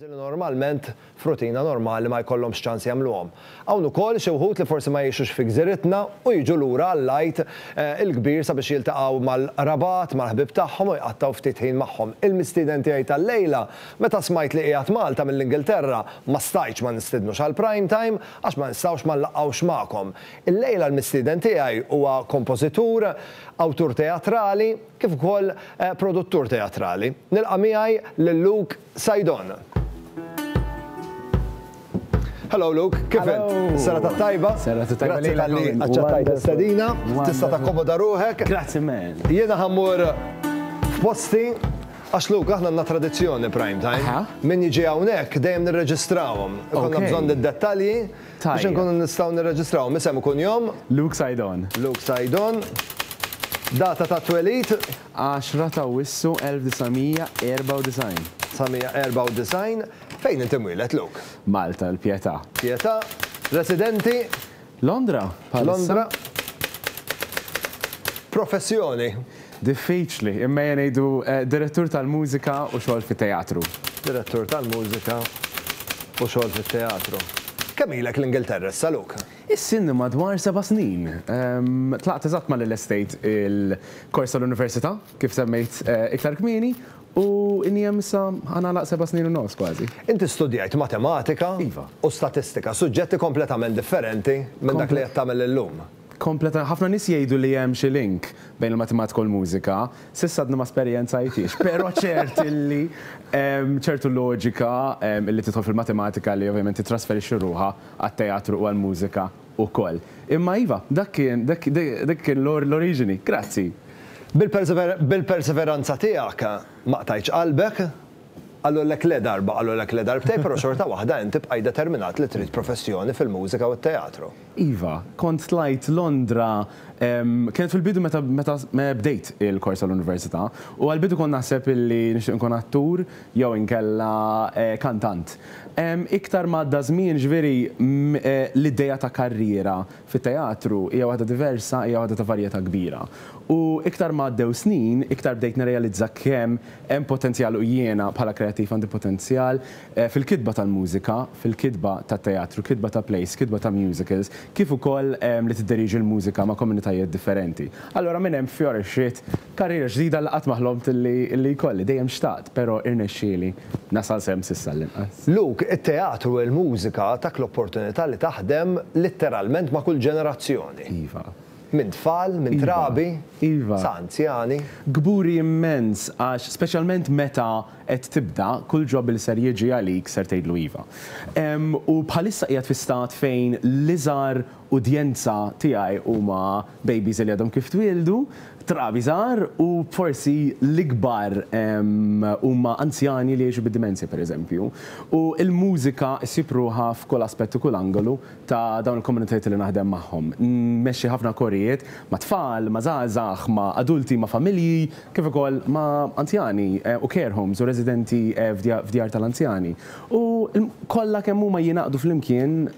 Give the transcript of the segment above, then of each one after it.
Li normalment f'rutina normali ma jkollhomx ċans jagħmluhom. Hawn ukoll xi wħud li forsi ma jgħixux fi gżiritna u jiġu lura għall-Għid il-Kbir sabiex jiltaqgħu mal-qrabat, mal-ħbieb tagħhom u jqattgħu ftit ħin magħhom. Il-mistieden tiegħi tal-lejla, meta smajt li qiegħed Malta mill-Ingilterra, ma stajtx ma nistidnux għal Prime Time għax ma nistgħux ma nlaqqgħux magħkom. Illejla l-mistieden tiegħi huwa kompożitur, awtur teatrali kif ukoll produttur teatrali. Nilqa' miegħi lil Luke Saydon. Hello Luke, kif int? Serata tajba? Serata tajba. Grazzi talli aċċettajt l-istedina. Tista' takkomoda ruħek. Grazzi man. Jiena ħa mmur f'posti għax Luke aħna għandna tradizzjoni prime time. Min jiġi hawnhekk dejjem nirreġistrawhom. Ikollna bżonn id-dettalji biex inkunu nistgħu nirreġistrawhom. Isem u kunjom? Luke Saydon. Luke Saydon. Data ta' twelid? 10 ta' Awwissu 1994. 1994. Fejn inti mwieled, Luke? Malta, il-Pietà. Pietà. Residenti? Londra, bħalissa. Londra. Professjoni? Diffiċli, imma ejja ngħidu direttur tal-mużika u xogħol fit-teatru. Direttur tal-mużika u xogħol fit-teatru. Kemm ilek l-Ingilterra issa, Luke? Issa ilni madwar seba' snin. Tlaqt eżatt malli lestejt il-kors tal-università, kif semmejt iktar kmieni, u ilni hemm issa ħa nagħlaq 7 snin u nofs kważi. Inti studjajt matematika u statistika, suġġetti kompletament differenti minn dak li qed tagħmel illum. Kompleta, ħafna nies jgħidu li hemm xi link bejn il-matematika u l-mużika, s'issa għadni ma esperjenzajthiex, però ċert illi hemm ċertu loġika illi tidħol fil-matematika li ovvjament titrasferixxi ruħha għat-teatru u għall-mużika wkoll. Imma iva, dak kien dak kien l-oriġini. Grazzi. Bil-perseveranza tiegħek ma qtajtx qalbek, qalulek le darba, qalulek le darbtejn, però xorta waħda inti bqajt determinat li trid professjoni fil-mużika u t-teatru. Iva, kont tlajt Londra, kienet fil-bidu meta meta bdejt il-kors tal-università, u għall-bidu kont naħseb illi nixtieq inkun attur jew inkella kantant. Iktar ma għadda żmien, ġifieri, l-idea ta' karriera fit-teatru hija waħda diversa, hija waħda ta' varjetà kbira. U iktar ma għaddew snin, iktar bdejt nirrealizza kemm hemm potenzjal u jiena bħala kreattiv għandi potenzjal fil-kitba tal-mużika, fil-kitba tat-teatru, kitba ta' plays, kitba ta' musicals, kif ukoll li tidderieġi l-mużika ma' komunitajiet differenti. Allura minn hemm fjorixxiet karriera ġdida li qatt ma ħlomt li jkolli. Dejjem xtaqt, però irnexxieli nasal s'hemm s'issa għall-inqas. Luke, it-teatru u l-mużika tak l-opportunità li taħdem litteralment ma' kull ġenerazzjoni. Iva. Minn tfal, minn trabi, sa anzjani. Kburi immens għax speċjalment meta qed tibda, kull job li ser jiġi għalik ser tgħidlu iva. U bħalissa qiegħed fi stat fejn l-iżgħar udjenza tiegħi huma babies li għadhom kif twieldu, trabi żgħar u forsi l-ikbar huma anzjani li jgħixu bid-dimensja pereżempju. U l-mużika ssib ruħha f'kull aspett u kull angolu ta' dawn il-komunitajiet li naħdem magħhom. Nmexxi ħafna korijiet ma' tfal, ma' żgħażagħ, ma' adulti, ma' familji, kif ukoll ma' anzjani u care homes u residenti f'djar tal-anzjani. U kollha kemm huma jingħaqdu flimkien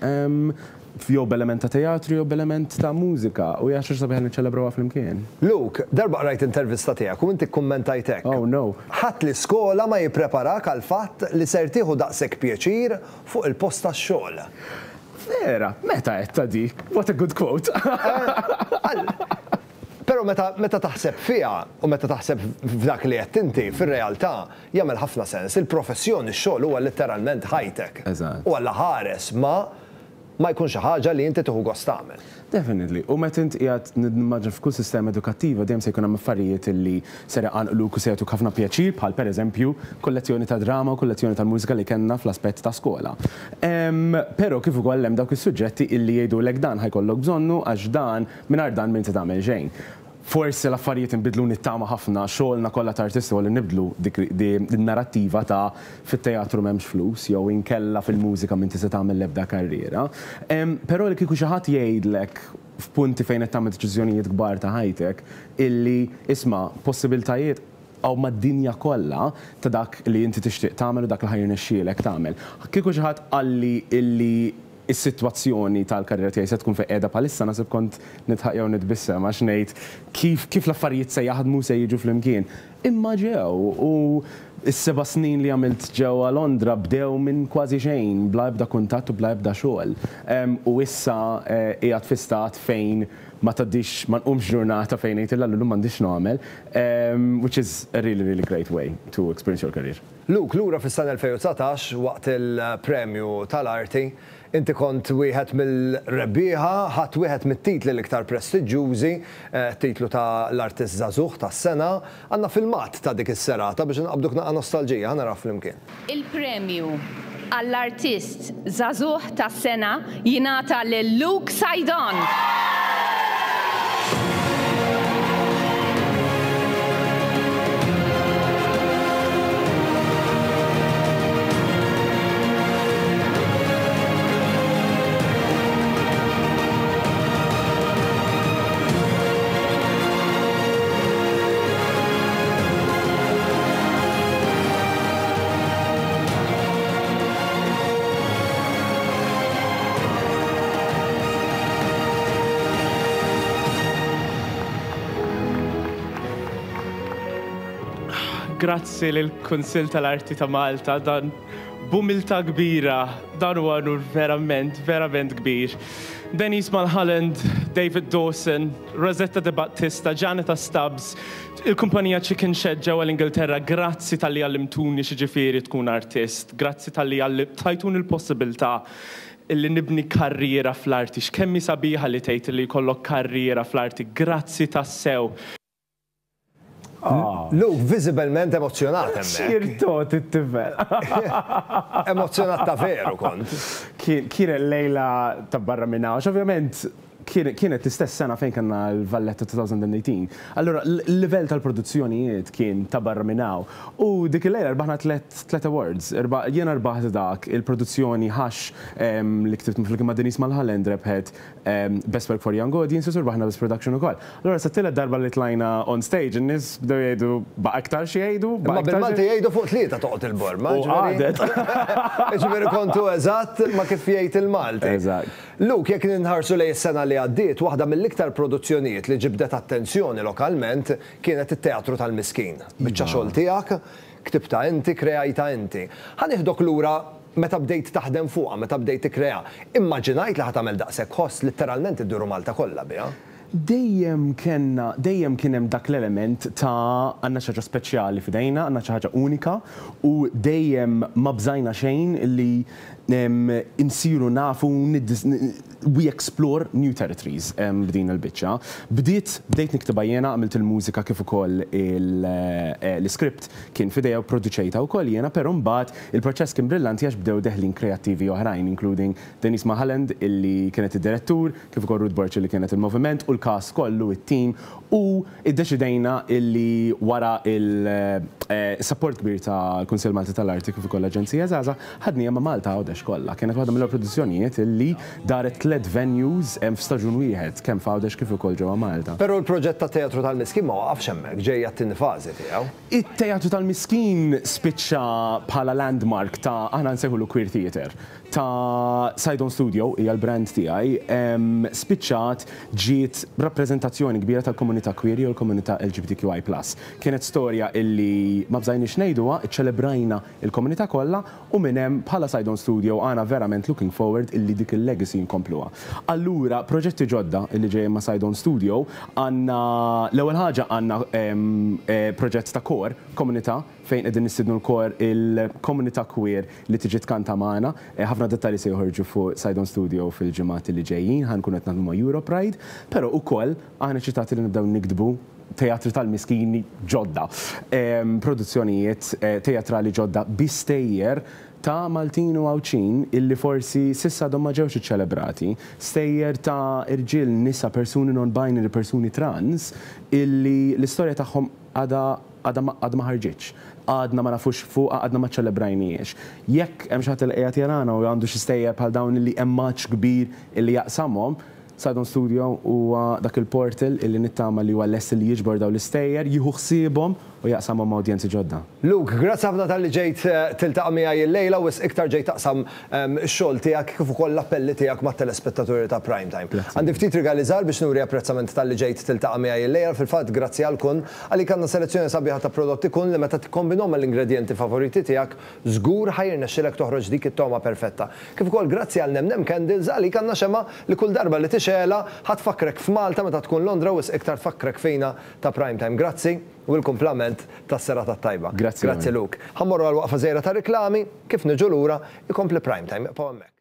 jew b'element ta' teatru jew b'element ta' mużika u hija xi ħaġa sabiħa li niċċelebrawha flimkien. Luke, darba qrajt intervista tiegħek u inti kkummentajt hekk. Oh no. Ħadd l-iskola ma jippreparak għall-fatt li ser tieħu daqshekk pjaċir fuq il-post tax-xogħol. Vera, meta għedtha dik? What a good quote! Però meta meta taħseb fiha u meta taħseb f'dak li għedt inti, fir-realtà jagħmel ħafna sens. Il-professjoni, x-xogħol huwa litteralment ħajtek. Eżatt. U Alla ħares ma ma jkun xi ħaġa li inti tieħu gost tagħmel. Definitely. U meta int qiegħed nimmaġina f'kull sistema edukattiva dejjem se jkun hemm affarijiet illi ser iqanqluk u se jagħtuk ħafna pjaċir bħal pereżempju kull lezzjoni ta' drama u kull lezzjoni tal-mużika li kellna fl-aspett ta' skola. Però kif ukoll hemm dawk is-suġġetti illi jgħidulek dan ħa jkollok bżonnu għax dan mingħajr dan m'inti tagħmel xejn. Forsi l-affarijiet inbidlu nittama ħafna, xogħolna kollha ta' artisti huwa li nibdlu dik in-narrattiva ta' fit-teatru m'hemmx flus jew inkella fil-mużika m'inti se tagħmel l-ebda karriera. Però li kieku xi ħadd jgħidlek f'punti fejn qed tagħmel deċiżjonijiet kbar ta' ħajtek illi isma' possibiltajiet hawn mad-dinja kollha ta' dak li inti tixtieq tagħmel u dak li ħa jirnexxielek tagħmel. Kieku xi ħadd qalli illi is-sitwazzjoni tal-karriera tiegħi se tkun fejn qiegħda bħalissa naħseb kont nidħaq jew nitbissem għax ngħid kif kif l-affarijiet se jaħdmu se jiġu flimkien. Imma ġew u Is-seba' snin li għamilt ġewwa Londra bdew minn kważi xejn, bla ebda kuntatt u bla ebda xogħol. U issa qiegħed fi stat fejn ma tgħaddix, ma nqumx ġurnata fejn ngħid illa llum m'għandix x'nagħmel, which is a really, really great way to experience your career. Luke, lura fis-sena 2019, waqt il-Premju tal-Arti, Inti kont wieħed mill-rebbieħa, ħadt wieħed mit-titli l-iktar prestiġġjużi, t-titlu ta' l-Artist Żagħżugħ tas-Sena. Għandna filmat ta' dik is-serata biex inqabbduk naqra nostalġija, ħa naraw flimkien. Il-premju għall-Artist Żagħżugħ tas-Sena jingħata lil Luke Saydon. Grazzi lill-Kunsill tal-Arti ta' Malta dan B'umiltà kbira, dan huwa unur verament, verament kbir. Denise Mulholland, David Dawson, Rosetta De Battista, Janita Stubbs, il-kumpanija Chicken Shed ġewwa l-Ingilterra, grazzi talli għallimtuni x'jiġifieri tkun artist, grazzi talli tajtuni l-possibilità illi nibni karriera fl-arti. X'kemm hi sabiħa li tgħid illi jkollok karriera fl-arti, grazzi tassew. Luke viżibilment emozzjonat hemmhekk. X'jirtot it-tifel. Emozzjonat ta' veru kont. Kienet lejla ta' barra minn hawn, għax ovvjament kienet l-istess sena fejn kellna l-Valletta 2018. Allura l-livell tal-produzzjonijiet kien ta' barra minn hawn. U dik il-lejla rbaħna tliet awards. Jiena rbaħt dak il-produzzjoni Hush li ktibt flimkien ma' Denise Mulholland rebħet Best Work for Young Audiences u rbaħna Best Production ukoll. Allura sa t-tielet darba li tlajna on stage in-nies bdew jgħidu baqa' iktar xi jgħidu? Imma bil-Malti jgħidu fuq tlieta toqgħod il-borma. U qagħdet. Jiġifieri kontu eżatt ma' kif jgħid il-Malti. Eżatt. Luke, jekk inħarsu lejn is-sena li għaddiet, waħda mill-iktar produzzjonijiet li ġibdet attenzjoni lokalment kienet it-Teatru tal-Miskin. Biċċa xogħol tiegħek, ktibtha inti, kreajtha inti. Ħa nieħdok lura Meta bdejt taħdem fuqha, meta bdejt tikkrea, immaġinajt li ħa tagħmel daqshekk ħoss, litteralment idduru Malta kollha biha? Dejjem kellna, dejjem kien hemm dak l-element ta' għandna xi ħaġa speċjali f'idejna, għandna xi ħaġa unika u dejjem ma bżajna xejn li nsiru nafu we explore new territories b'din il-biċċa. Bdiet, bdejt niktibha jiena, għamilt il-mużika kif ukoll l-iskript kien f'idejja u pproduċejtha wkoll jiena, però mbagħad Il-proċess kien brillanti għax bdew deħlin kreattivi oħrajn, including Denise Mulholland illi kienet id-direttur, kif ukoll Ruth Borg illi kienet il-moviment u l-cast kollu, it-team, u iddeċidejna illi wara il-support kbir tal-Kunsill Malti tal-Arti kif ukoll l-Aġenzija Żgħażagħ, ħadniha ma' Malta Għawdex kollha. Kienet waħda mill-ewwel produzzjonijiet illi daret tlett venues f'staġun wieħed, kemm f'Għawdex kif ukoll ġewwa Malta. Però l-proġett tat-Teatru tal-Miskin ma waqafx hemmhekk, ġejja t-tieni fażi tiegħu. It-Teatru tal-Miskin spiċċa bħala landmark ta', aħna nsejħulu queer theatre, ta' Saydon Studio, hija l-brand tiegħi, spiċċat ġiet rappreżentazzjoni kbira tal-komunità queer jew il-komunità LGBTQI plus. Kienet storja illi ma bżajniex ngħiduha, iċċelebrajna l-komunità kollha U minn hemm, bħala Saydon Studio aħna verament looking forward illi dik il-legacy nkompluha. Allura, proġetti ġodda illi ġejjin ma' Saydon Studio, għandna, l-ewwel ħaġa għandna proġett ta' kor, komunità, fejn qegħdin nistiednu l-kor il-komunità queer li tiġi tkanta magħna. Ħafna dettalji se joħorġu fuq Saydon Studio fil-ġimgħat li ġejjin, ħa nkunu qed naħdmu ma' Europride, però ukoll aħna eċitati li nibdew niktbu teatri tal-miskini ġodda, produzzjonijiet teatrali ġodda bi stejjer ta' Maltin u Għawdxin illi forsi s'issa għadhom ma ġewx iċċelebrati, stejjer ta' irġiel, nisa, persuni non-binary, persuni trans illi l-istorja tagħhom għadha għadha għadha ma ħarġitx, għadna ma nafux fuqha, għadna ma ċċelebrajnihiex. Jekk hemm xi ħadd li qiegħed jarana u għandu xi stejjer bħal dawn illi hemm għatx kbir illi jaqsamhom, Saydon Studio huwa dak il-portal illi nittama li huwa lest li jiġbor dawn l-istejjer, jieħu ħsiebhom u jaqsamhom ma' udjenzi ġodda. Luke, grazzi ħafna talli ġejt tiltaqa' miegħi illejla u wisq iktar ġejt taqsam ix-xogħol tiegħek kif ukoll l-appelli tiegħek mat-telespettaturi ta' Prime Time. Għandi ftit rigali żgħar biex nuri apprezzament talli ġejt tiltaqa' miegħi illejla, fil-fatt grazzi għal Kun, għalik għandna selezzjoni sabiħa ta' prodotti Kun li meta tikkombinhom mal-ingredjenti favoriti tiegħek żgur ħa jirnexxilek toħroġ dik it-togħma perfetta. Kif ukoll grazzi għal Nem Nem Candles għalik għandna xemgħa li kull darba li tixgħelha ħa tfakkrek f'Malta meta tkun Londra wisq iktar tfakkrek fina ta' Prime Time. Grazzi u l-kumplament tas-serata t-tajba. Grazzi Grazzi Luke. Ħa mmorru għal waqfa żgħira ta' riklami, kif niġu lura ikompli Prime Time. Ibqgħu hemmhekk.